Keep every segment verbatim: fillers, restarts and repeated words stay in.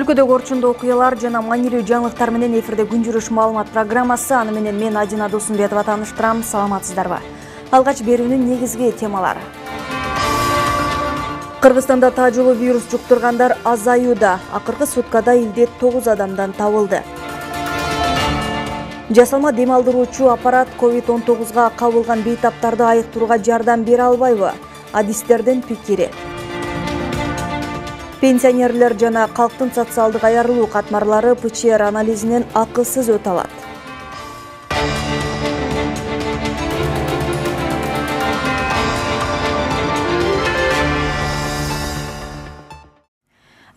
Өлкөдөгү орчундуу окуялар жана маанилүү жаңылыктар менен эфирде күн жүрүш маалымат программасы. Аны менен мен Адина Досумбетова тааныштырам. Саламатсыздарбы? Алгач берүүнүн негизги темалары. Кыргызстанда таажылуу вирус жуктургандар азаюуда. Акыркы суткада илдет тогуз адамдан табылды. Жасалма дем алдыруучу аппарат ковид он тогузга кабылган бейтаптарды айыктырууга жардам бере албайбы? Адистердин пикири. Пенсионерлер жана калктын социалдык аярылуу катмарлары ПЧР анализинен акысыз өтө алат.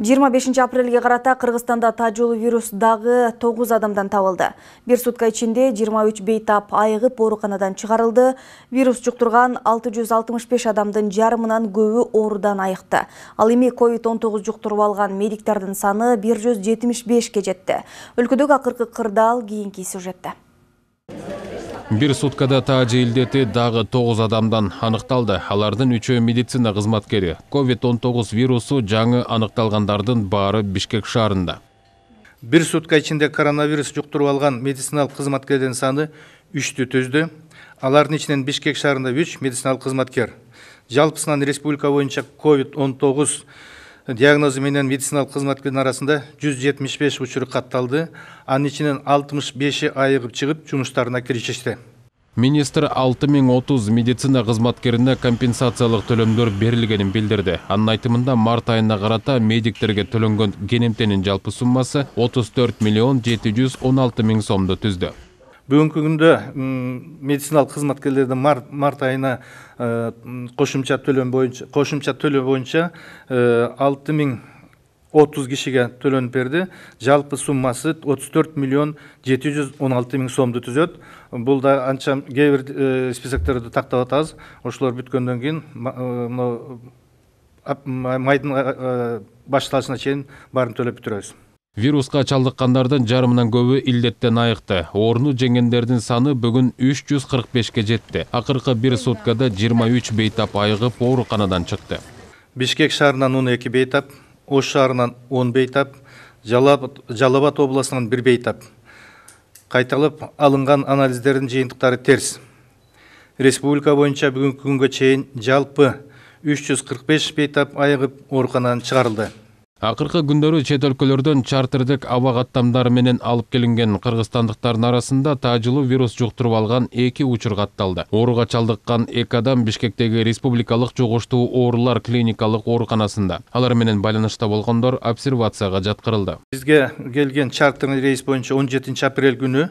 жыйырма бешинчи апрелге карата Кыргызстанда таажылуу вирус дагы тогуз адамдан табылды. Бир сутка ичинде жыйырма үч бейтап айыгып ооруканадан чыгарылды. Вирус жуктурган алты жүз алтымыш беш адамдын жарымынан көбү оорудан айыкты. Ал эми ковид он тогуз жуктуруп алган медиктердин саны бир жүз жетимиш бешке жетти. Өлкөдөгү акыркы кырдаал кийинки сюжетте. Бир суткада таажы илдети дагы тогуз адамдан аныкталды. Алардын үчөө медицина кызматкери. ковид он тогуз вирусу жаңы аныкталгандардын баары Бишкек шаарында. Бир сутка ичинде коронавирус жуктуруп алган медициналык кызматкердин саны үчтү түздү. Алардын ичинен Бишкек шаарында үч медициналык кызматкер. Жалпысынан республика боюнча ковид он тогуз диагнозу менен медициналык кызматкердин арасында жүз жетимиш беш учур катталды. Анын ичинен алтымыш беши айыгып чыгып жумуштарына киришишти. Министр алты миң отуз медицина кызматкерине компенсациялык төлөмдөр берилгенин билдирди. Анын айтымында март айына карата медиктерге төлөнгөн кенемтенин жалпы суммасы отуз төрт миллион жети жүз он алты миң сомду түздү. Бүгүнкү күндө медициналык кызматкерлердин март, март айына кошумча төлөм боюнча кошумча төлөө боюнча алты миң отуз кишиге төлөнүп берди. Жалпы суммасы отуз төрт миллион жети жүз он алты миң сомду түзөт. Бул да анча кээ бир списокторду тактап атабыз. Ошолор бүткөндөн кийин майдын башталышына чейин баарын төлөп бүтүрөбүз. Вируска чалдыккандардын жарымынан көбү илдеттен айыкты. Ооруну жеңгендердин саны бүгүн үч жүз кырк бешке жетти. Акыркы бир суткада жыйырма үч бейтап айыгып ооруканадан чыкты. Бишкек шаарынан он эки бейтап, Ош шаарынан он бейтап, Жалал-Абад областынан бир бейтап. Кайталып алынган анализдердин жыйынтыктары терс. Республика боюнча бүгүнкү күнгө чейин жалпы үч жүз кырк беш бейтап айыгып ооруканадан чыгарылды. Акыркы күндөрү чет өлкөлөрдөн чартердик аба каттамдары менен алып келинген кыргызстандыктардын арасында таажылуу вирус жуктуруп алган эки учур катталды. Ооруга чалдыккан эки адам Бишкектеги республикалык жугуштуу оорулар клиникалык ооруканасында. Алар менен байланышта болгондор обсервацияга жаткырылды. Бизге келген чартерный рейс боюнча он жетинчи апрель күнү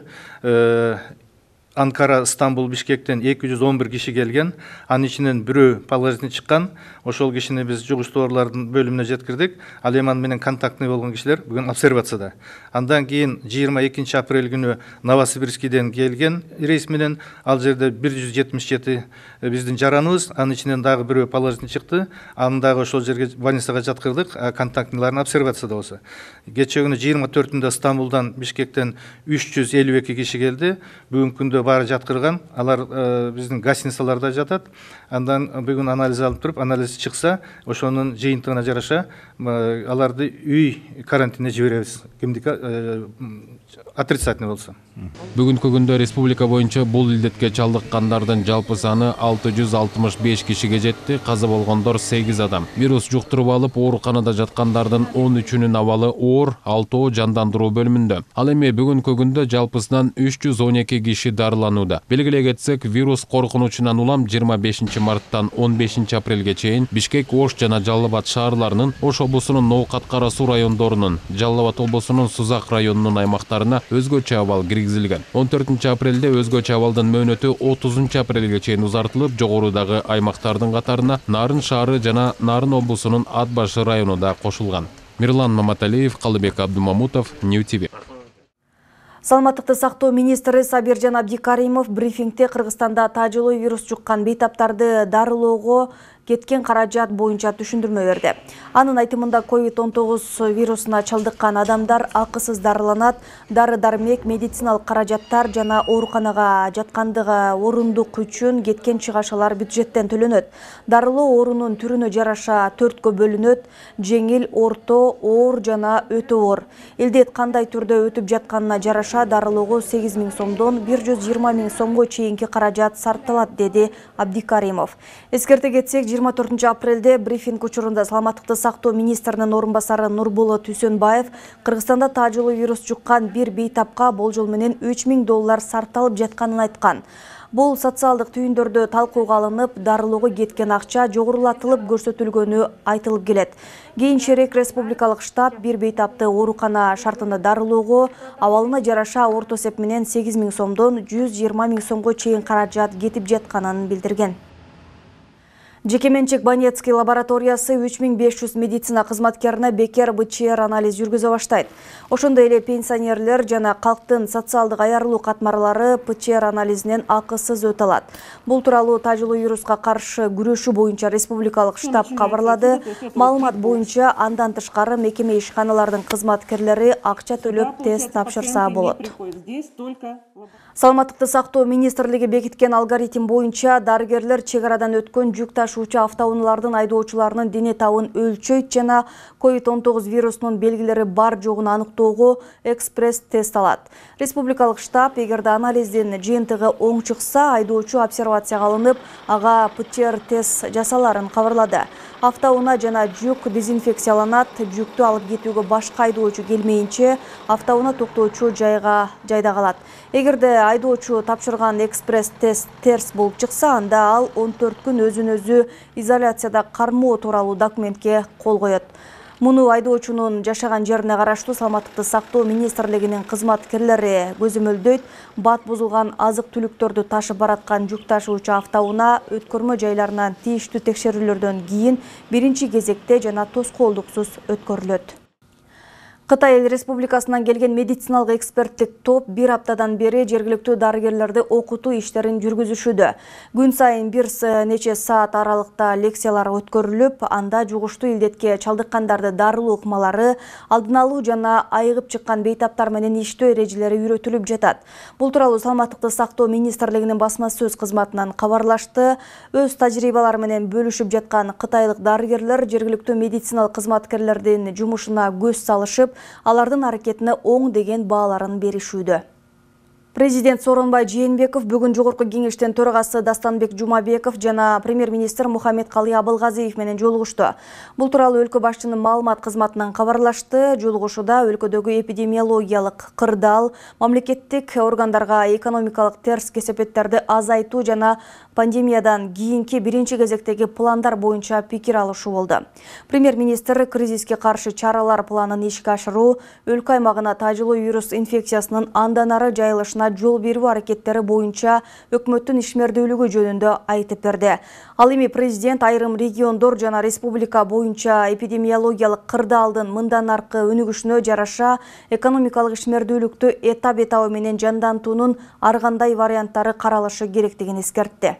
Анкара, Стамбул, Бишкектен эки жүз он бир киши келген. Анын ичинен бирөө положительный чыккан. Ошол кишини биз жугуштуу оорулардын бөлүмүнө жеткирдик. Ал эми аны менен контактный болгон кишилер бүгүн обсервацияда. Андан кийин жыйырма экинчи апрель күнү Новосибирскийден келген рейс менен ал жерде бир жүз жетимиш жети биздин жараныбыз. Анын ичинен дагы бирөө положительный чыкты. Аны дагы ошол жерге больницага жаткырдык. Контактныйларын обсервацияда болсо. Кечээ күнү жыйырма төртүндө Стамбулдан, Бишкектен үч жүз элүү эки киши келди. Бүгүнкү күндө баары жаткырган. Алар биздин гостиницаларда жатат. Андан бүгүн анализ алып туруп, анализ чыкса, ошонун жыйынтыгына жараша аларды үй карантинине жиберебиз. Кимдики отрицательный болсо. Бүгүнкү күндө республика боюнча бул илдетке чалдыккандардын жалпы саны алты жүз алтымыш беш кишиге жетти. Каза болгондор сегиз адам. Вирус жуктуруп алып ооруканада жаткандардын он үчүнүн абалы оор, алтоо жандандыруу бөлүмүндө. Ал эми бүгүнкү күндө жалпысынан үч жүз он эки киши дарыланууда. Белгилей кетсек, вирус коркунучунан улам жыйырма бешинчи марттан он бешинчи апрелге чейин Бишкек, Ош жана Жалал-Абад шаарларынын, Ош облусунун Ноокат Кара Суу райондорунун, Жалал-Абад облусунун Сузак районунун аймактарына өзгөчө абал киргизилген. он төртүнчү апрелде өзгөчө абалдын мөөнөтү отузунчу апрелге чейин узартылып, жогорудагы аймактардын катарына Нарын шаары жана Нарын облусунун Ат Башы району да кошулган. Мирлан Маматалиев, Калыбек Абдумамутов, Нью ти ви. Саламаттыкты сактоо министри Сабиржан Абдикаримов брифингде Кыргызстанда таажылуу вирус жуккан бейтаптарды дарылоого кеткен каражат боюнча түшүндүрмө берди. Анын айтымында ковид он тогуз вирусуна чалдыккан адамдар акысыз дарыланат, дары-дармек, медициналык каражаттар жана ооруканага жаткандыгы орундук үчүн кеткен чыгашалар бюджеттен төлөнөт. Дарылоо оорунун түрүнө жараша төрткө бөлүнөт: жеңил, орто, оор жана өтө оор. Илдет кандай түрдө өтүп жатканына жараша дарылоого сегиз миң сомдон бир жүз жыйырма миң сомго чейинки каражат сарпталат, деди Абдикаримов. Эскерте кетсек, жыйырма төртүнчү апрелде брифинг учурунда саламаттыкты сактоо министринин орун басары Нурболот Үсөнбаев Кыргызстанда таажылуу вирус жуккан бир бейтапка болжол менен үч миң доллар сарпталып жатканын айткан. Бул социалдык түйүндөрдө талкууга алынып, дарылоого кеткен акча жогорулатылып көрсөтүлгөнү айтылып келет. Кийинчерээк республикалык штаб бир бейтапты оорукана шартында дарылоого абалына жараша орто эсеп менен сегиз миң сомдон жүз жыйырма миң сомго чейин каражат кетип жатканын билдирген. Жекеменчик Банецкий лабораториясы үч миң беш жүз медицина кызматкерине бекер БЧР анализ жүргүзө баштайт. Ошондой эле пенсионерлер жана калктын социалдык аярылуу катмарлары ПЧР анализинен акысыз өтө алат. Бул тууралуу таажылуу вируска каршы күрөшүү боюнча республикалык штаб кабарлады. Маалымат боюнча андан тышкары мекеме ишканалардын кызматкерлери акча төлөп тест тапшырса болот. Саламаттыкты сактоо министрлиги бекиткен алгоритм боюнча дарыгерлер чек арадан өткөн жүк ташуучу автоунаалардын айдоочуларынын дене табын өлчөйт жана ковид он тогуз вирусунун белгилери бар жогун аныктоого экспресс тест алат. Республикалык штаб эгерде анализдин жыйынтыгы оң чыкса, айдоочу обсервацияга алынып, ага ПЧР тест жасаларын кабарлады. Автоунаа жана жүк дезинфекцияланат, жүктү алып кетүүгө башка айдоочу келмейинче автоунаа токтоочу жайга жайда калат. Эгерде айдоочу тапшырган экспресс тест терс болуп чыкса, анда ал он төрт күн өзүн өзү изоляцияда кармоо тууралуу документке кол коет. Муну айдоочунун жашаган жерине караштуу саламаттыкты сактоо министрлигинин кызматкерлери көзөмөлдөйт. Бат бузулган азык-түлүктөрдү ташып бараткан жүк ташуучу автоунаа өткөрмө жайларынан тийиштүү текшерүүлөрдөн кийин биринчи кезекте жана тоскоолдуксуз өткөрүлөт. Кытай Эл Республикасынан келген медициналык эксперттик топ бир аптадан бери жергиликтүү дарыгерлерди окутуу иштерин жүргүзүшүүдө. Күн сайын бир нече саат аралыкта лекциялар өткөрүлүп, анда жугуштуу илдетке чалдыккандарды дарылоо ыкмалары, алдын алуу жана айыгып чыккан бейтаптар менен иштөө эрежелери үйрөтүлүп жатат. Бул тууралуу саламаттыкты сактоо министрлигинин басма сөз кызматынан кабарлашты. Өз тажрыйбалары менен бөлүшүп жаткан кытайлык дарыгерлер жергиликтүү медициналык кызматкерлердин жумушуна көз салышып, алардын аракетине оң деген бааларын беришүүдө. Президент Сооронбай Жээнбеков бүгүн Жогорку кеңештин төрагасы Дастанбек Жумабеков жана премьер-министр Мухаммедкалый Абылгазиев менен жолугушту. Бул тууралуу өлкө башчынын маалымат кызматынан кабарлашты. Жолугушууда өлкөдөгү эпидемиологиялык кырдаал, мамлекеттик органдарга экономикалык терс кесепеттерди азайтуу жана пандемиядан кийинки биринчи кезектеги пландар боюнча пикир алышуу болду. Премьер-министр кризиске каршы чаралар планын ишке ашыруу, өлкө аймагына таажылуу вирус инфекциясынын андан ары жайылышына жол берүү аракеттери боюнча өкмөттүн ишмердүүлүгү жөнүндө айтып берди. Ал эми президент айрым региондор жана республика боюнча эпидемиологиялык кырдаалдын мындан аркы өнүгүшүнө жараша экономикалык ишмердүүлүктү этап-этабы менен жандантуунун ар кандай варианттары каралышы керектигин эскертти.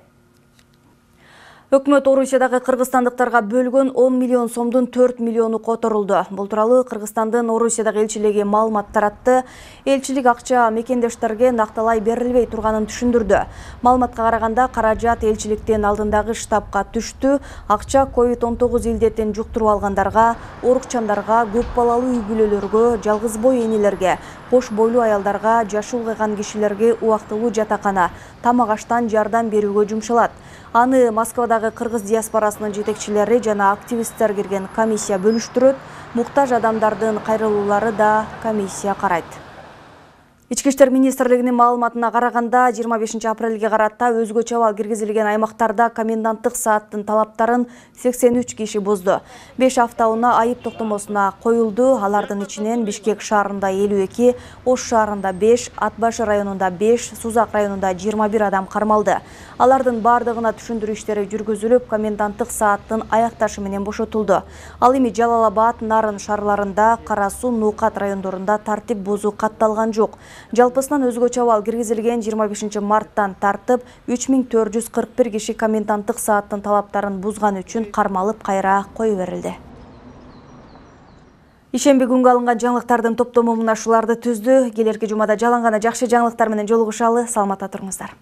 Өкмөт Орусиядагы кыргызстандыктарга бөлгөн он миллион сомдун төрт миллиону которулду. Бул тууралуу Кыргызстандын Орусиядагы элчилиги маалымат таратты. Элчилик акча мекендештерге накталай берилбей турганын түшүндүрдү. Маалыматка караганда, каражат элчиликтин алдындагы штабка түштү. Акча ковид он тогуз илдетин жуктуруп алгандарга, оорукчандарга, көп балалуу үй бүлөлөргө, жалгыз бой энелерге, кош бойлуу аялдарга, жашы улгайган кишилерге убактылуу жатакана, тамак аштан жардам берүүгө жумшалат. Аны Москвадагы кыргыз диаспорасынын жетекчилери жана активисттер кирген комиссия бөлүштүрөт. Муктаж адамдардын кайрылуулары да комиссия карайт. Ички иштер министрлигинин маалыматына караганда, жыйырма бешинчи апрелге карата өзгөчө абал киргизилген аймактарда коменданттык сааттын талаптарын сексен үч киши бузду. беш автоунаа айып токтомосуна коюлду. Алардын ичинен Бишкек шаарында элүү эки, Ош шаарында беш, Ат башы районунда беш, Сузак районунда жыйырма бир адам кармалды. Алардын бардыгына түшүндүрүү иштери жүргүзүлүп, коменданттык сааттын аякташы менен бошотулду. Ал эми Жалал Абад, Нарын шаарларында, Кара Суу, Нуукат райондорунда тартип бузуу катталган жок. Жалпысынан өзгөчө абал киргизилген жыйырма бешинчи марттан тартып үч миң төрт жүз кырк бир киши коменданттык сааттын талаптарын бузган үчүн кармалып кайра кое берилди. Ишемби күнгө алынган жаңылыктардын топтому мына ушуларды түздү. Келерки жумада жалаң гана жакшы жаңылыктар менен жолугушалы. Саламатта туруңуздар.